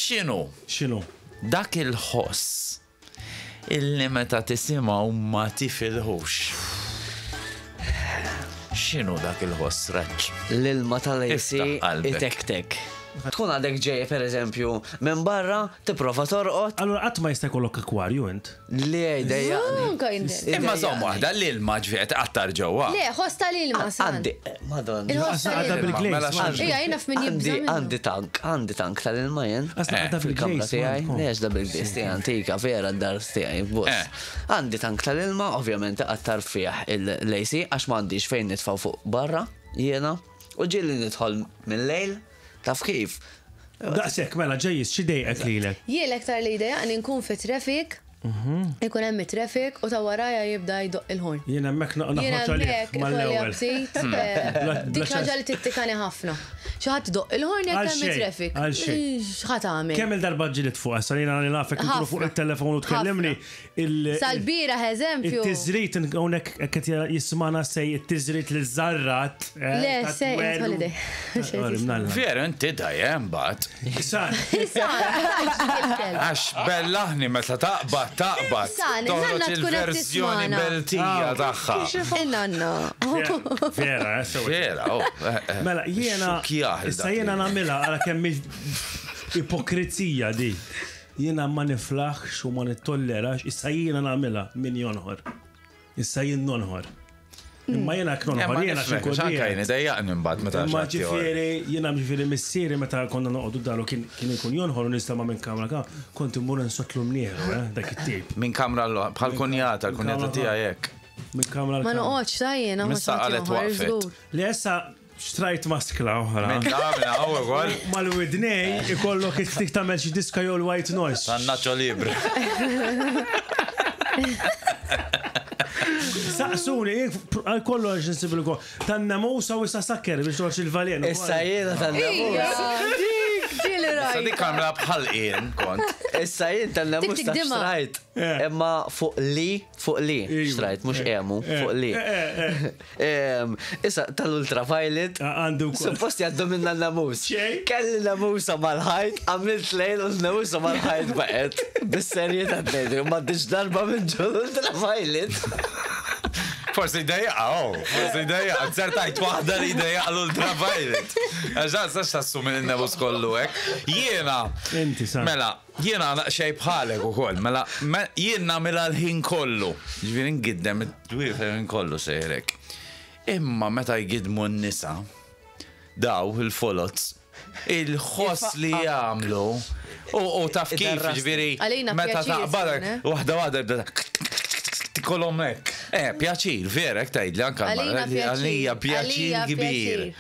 X'inhu? X'inhu? Dak il-ħoss illi meta tisimgħu ma tifilħux. X'inhu dak il-ħoss raġġ? L-ilma tal-AC Iftaħ qalbek. itektek. Tkun għadek ġej per eżempju minn barra, tipprova torqod. Allura qatt ma jista' jkollok akwarju int? Le, jdejjaqni. Anka inti. Imma żomm waħda, l-ilma ġifieri qed tqattar ġewwa. Le, ħoss tal-ilma, San. Għandi, madonna. Il-ħoss Għadha tal-ilma. bil-glaze. Mela m'għandx. Ija, jiena f'min jibża' Għandi, minnu. għandi tank, għandi tank tal-ilma jien. Asla għadha Fil-kamra bil-glaze. tiegħi, m'għandkom. lex da bil-glaze tiegħi antika, vera d-dar tiegħi, bus. Eh. Għandi tank tal-ilma, ovvjament qattar fih il-lejsi, għax m'għandix fejn nitfaw fuq barra, jiena. U ġieli nidħol mill-lejl, taf kif. Daqshekk mela ġejjis xi dejqek lilek. Jien l-aktar li jdejjaqni nkun fi traffic, ikun hemm it-traffic u ta' warajja jibda jdoqq il-ħorn. Jien hemmhekk Jien naħroġ għalih hemmhekk ikolli mal-ewwel. aptit. eh, Bla- Dik bla ħaġa li tittikani ħafna. Xi ħadd idoqq il-ħorn jekk Għal hemm xejn, it-traffic. għal xejn. X'ħa tagħmel? Kemm il-darba ġilit fuq issa jiena nafek nkunu fuq Ħafna. it-telefon u tkellimni il- Sal-bieraħ eżempju. It-tiżrit hawnhekk qed jismana sej it-tiżrit li żarrat. eh, Le, sej, holiday. Veru inti dejjem mbagħad. San, San, Għax bellaħni meta taqbad, taqbad. San, Toħroġ nanna tkun qed il-verżjoni tismana. beltija tagħha. Inanna. Vera, eh, sewa. Vera, oh. eh, eh. Mela, jiena. Xukjah Issa dak jiena li- nagħmilha għala kemm ipokrizija di. Jiena ma niflaħx u ma nittollerax, issa jiena nagħmilha min jonħor. Issa jien nonħor. Imma jiena Eh, knonħor, ma jiena nifhmek, xi għax anka jien idejjaqni mbagħad meta Imma xi ħadd ieħor. ġifieri, jiena ġifieri missieri meta konna noqogħdu daru kien kien ikun jonħor u nistama' minn kamra ka, kont immur insotlu mnieħru, eh, dak it-tip. Minn kamra l bħal kunjata, l-kunjata kamra tiegħi hekk. Minn kamra l Ma noqgħodx ta' jiena ma Missa qalet waqfet. Li issa xtrajt maskla oħra. Minn da, minn hawn ukoll. Mal-widnej ikollok it-tik tagħmel xi diska jew l-white noise. Tan Nacho Libre. Saqsuni, għal kollox nsibilkom. Tan-namusa u issa sakker biex toħroġ il-valenu. Issa jiena tan-namus. Dik, ġieli Sa rajt. dik għamla bħal jien kont. Issa jien tan-namus Tik ta' tikdima. xtrajt. Eh. Imma fuq li, fuq li, Iva. xtrajt, mux Eh. emu, Eh. fuq li. Eh, eh, eh. Em, Issa tal-ultraviolet, Ah, Għandu wkoll. Suppost jaddu minna n-namus. Xej? Kelli namusa mal-ħajt, għamilt lejl u n-namusa mal-ħajt baqet. Bis-serjetà t-nejdu, ma diġ darba minn ġol ultraviolet. Forsi dejjaqa, oh, forsi dejjaqa. Zertajt waħda li dejjaqa l-ultraviolet. Għax sax tassumi l-nebus kollu hekk. Jiena. Inti, sa. Mela, jiena xej bħalek ukoll. Mela, me- jien nagħmilha l-ħin kollu. Ġifieri ngiddem id-dwief l-ħin kollu sejrek. Imma meta jgidmu n-nisa, daw il-folots, il-ħoss li jagħmlu u u taf kif, Id-darrasti. ġifieri, Għalina meta pjaċir, taqbadek, eh? waħda waħda jibda Tikolhom hekk. Eh, pjaċir, vera, hekk tgħidli anke Għalina l-mara, għalija pjaċir. pjaċir Għalija kbir. pjaċir.